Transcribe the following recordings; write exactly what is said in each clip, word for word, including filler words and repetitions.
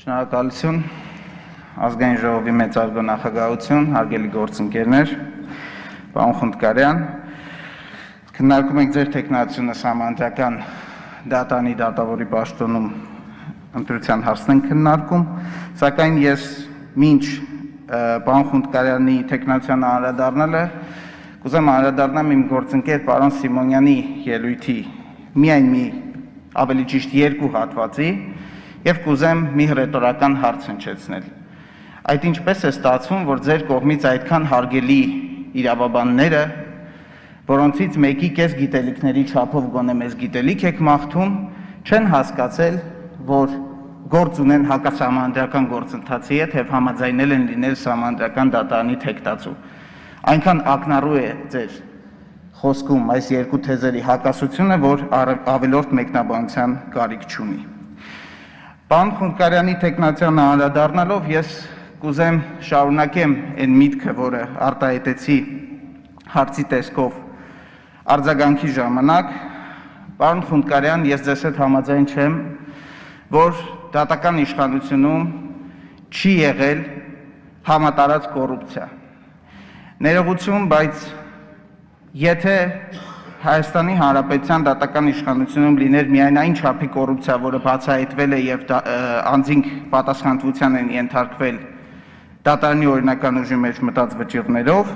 Շնորհակալություն, ազգային ժողովի մեծարգո նախագահություն, հարգելի գործընկերներ, պարոն Խունդկարյան, քննարկում ենք ձեր տեխնացիոնը համանդրական դատանի դատավորի պաշտոնում ընտրության հարցն ենք քննարկում, սակայն ես մինչ պարոն Խունդկարյանի տեխնացիոնը անդրադառնալը կուզեմ անդրադառնամ իմ գործընկեր պարոն Սիմոնյանի ելույթի միայն մի ավելի ճիշտ երկու հատվածի և կուզեմ մի հռետորական հարց հնչեցնել։ Այդ ինչպես է ստացվում, որ ձեր կողմից այդքան հարգելի իրավաբանները, որոնցից մեկի կես գիտելիքների չափով գոնե մեզ գիտելիք եք մաղթում, չեն հասկացել, որ գործ ունեն հակասահմանադրական գործընթացի հետ և համաձայնել են լինել սահմանադրական դատարանի թեկտածու։ Այնքան ակնառու է ձեր խոսքում այս երկու թեզերի հակասությունը, որ ավելորդ մեկնաբանության կարիք չունի։ Պարոն Խունդկարյանի տեխնացիոնը անդրադառնալով ես կուզեմ շարունակեմ այն միտքը, որը արտահայտեցի հարցի տեսքով արձագանքի ժամանակ, պարոն Խունդկարյան, ես ձեզ հետ համաձայն չեմ, որ դատական իշխանությունում չի եղել համատարած կոռուպցիա։ Ներողություն, բայց եթե Հայաստանի Հանրապետության դատական իշխանությունում լիներ միայն այն չափի կոռուպցիա, որը բացահայտվել է և անձինք պատասխանատվության են ենթարկվել դատարանի օրինական ուժի մեջ մտած վճիռներով,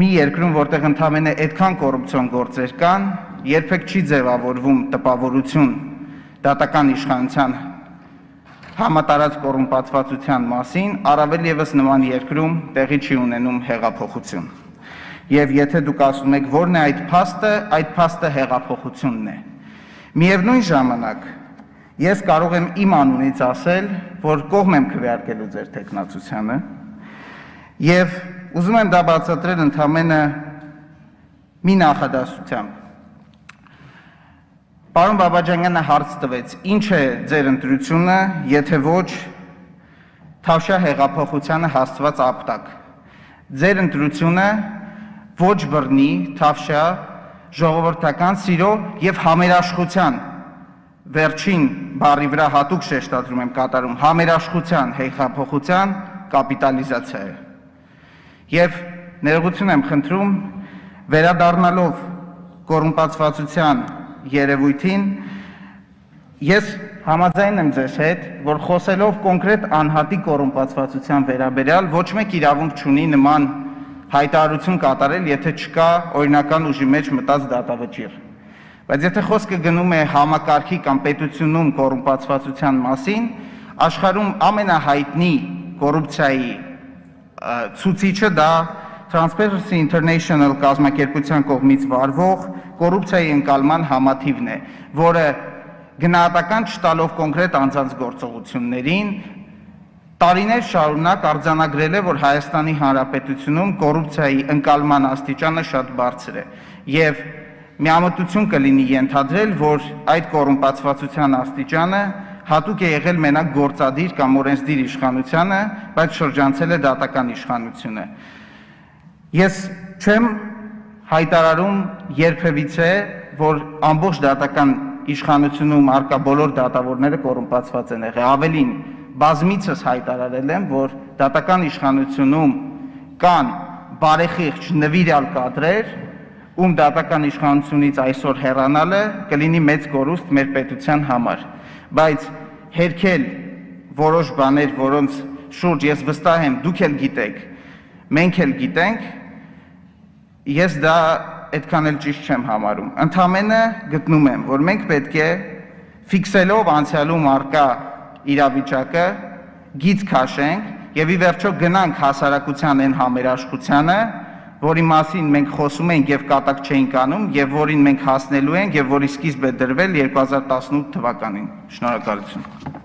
մի երկրում, որտեղ ընդամենը այդքան կոռուպցիոն գործեր կան, երբեք չի ձևավորվում տպավորություն դատական իշխանության համատարած կոռումպացվածության մասին, առավել ևս նման երկրում տեղի չի ունենում հեղափոխություն։ Եվ եթե դուք ասում եք, որն է այդ փաստը, այդ փաստը հեղափոխությունն է։ Միևնույն ժամանակ, ես կարող եմ իմ անունից ասել, որ կողմ եմ քվեարկելու ձեր տեխնացությանը, և ուզում եմ դա բացատրել ընդամենը մի նախադասությամբ։ Պարոն Բաբաջանյանը հարց տվեց, ինչ է ձեր ընտրությունը, եթե ոչ Թավշյա հեղափոխությանը հասցված ապտակ։ Ձեր ընտրությունը ոչ բռնի, Թավշյա, ժողովրդական սիրո և համերաշխության, վերջին բառի վրա հատուկ շեշտադրում եմ կատարում, համերաշխության հեղափոխության կապիտալիզացիա է։ Եվ ներողություն եմ խնդրում, վերադառնալով կոռումպացվածության երևույթին, ես համաձայն եմ ձեզ հետ, որ խոսելով կոնկրետ անհատի կոռումպացվածության վերաբերյալ ոչ մեկ իրավունք չունի նման հայտարարություն կատարել, եթե չկա օրինական ուժի մեջ մտած դատավճիռ։ Բայց եթե խոսքը գնում է համակարգի կամ պետությունում կոռումպացվածության մասին, աշխարհում ամենահայտնի կոռուպցիայի ցուցիչը դա Transparency International կազմակերպության կողմից վարվող կոռուպցիայի ընկալման համաթիվն է, որը գնահատական չտալով կոնկրետ անձանց գործողություններին, տարիներ շարունակ արձանագրել է, որ Հայաստանի Հանրապետությունում կոռուպցիայի ընկալման աստիճանը շատ բարձր է, և միամտություն կլինի ենթադրել, որ այդ կոռումպացվածության աստիճանը հատուկ է եղել մենակ գործադիր կամ օրենսդիր իշխանությանը, բայց շրջանցել է դատական իշխանությունը։ Ես չեմ հայտարարում երբևիցե, որ ամբողջ դատական իշխանությունում առկա բոլոր դատավորները կոռումպացված են եղել, ավելին բազմիցս հայտարարել եմ, որ դատական իշխանությունում կան բարեխիղճ նվիրյալ կադրեր, ում դատական իշխանությունից այսօր հեռանալը կլինի մեծ կորուստ մեր պետության համար, բայց հերքել որոշ բաներ, որոնց շուրջ ես վստահ եմ, դուք էլ գիտեք, մենք էլ գիտենք, ես դա այդքան էլ ճիշտ չեմ համարում։ Ընդամենը գտնում եմ, որ մենք պետք է ֆիքսելով անցյալում առկա իրավիճակը գիծ քաշենք և ի վերջո գնանք հասարակության այն համերաշխությանը, որի մասին մենք խոսում ենք և կատակ չէինք անում, և որին մենք հասնելու ենք, և որի սկիզբ է դրվել երկու հազար տասնութ թվականին։ Շնորհակալություն։